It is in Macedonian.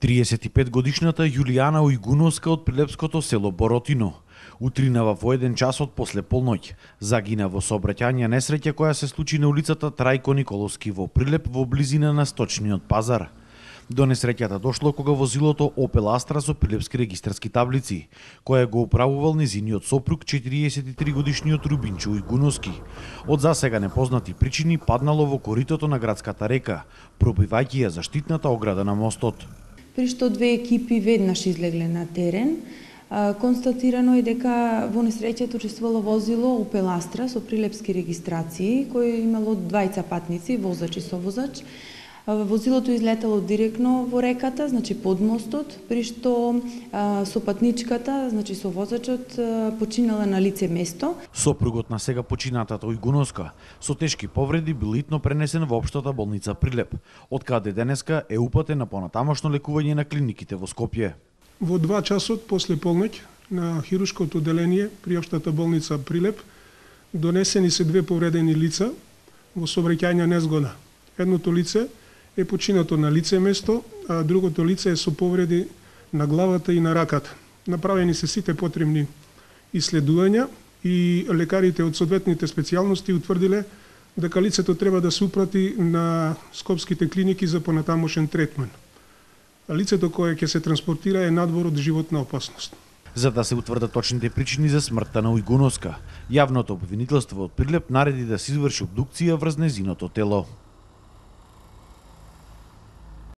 35-годишната Јулијана Ујгуновска од прилепското село Боротино утринава во 1 часот после полноќ. Загина во сообраќајна несреќа која се случи на улицата Трајко Николовски во Прилеп во близина на сточниот пазар. До несреќата дошло кога возилото Opel Astra со прилепски регистарски таблици, која го управувал незиниот сопруг 43-годишниот Рубинчо Ујгуновски. Од засега непознати причини паднало во коритото на градската река, пробивајќи ја заштитната ограда на мостот. При што две екипи веднаш излегле на терен, констатирано е дека во несреќата учествувало возило Opel Astra со прилепски регистрации, кој имало двајца патници, возач и совозач. Возилото излетало директно во реката, значи под мостот, при што со патничката, значи со возачот, починала на лице место. Сопругот на сега починатата Ујгуновска со тешки повреди бил итно пренесен во општата болница Прилеп, од каде денеска е упатен на понатамошно лекување на клиниките во Скопје. Во 2 часот после полноќ на хируршкото одделение при општата болница Прилеп донесени се 2 повредени лица во сообраќајна незгода. Едното лице е починато на лице место, а другото лице е со повреди на главата и на раката. Направени се сите потребни исследувања и лекарите од соодветните специјалности утврдиле дека лицето треба да се упрати на скопските клиники за понатамошен третман. Лицето кое ќе се транспортира е надвор од животна опасност. За да се утврдат точните причини за смртта на Ујгуновска, јавното обвинителство од Прилеп нареди да се изврши обдукција врз незиното тело.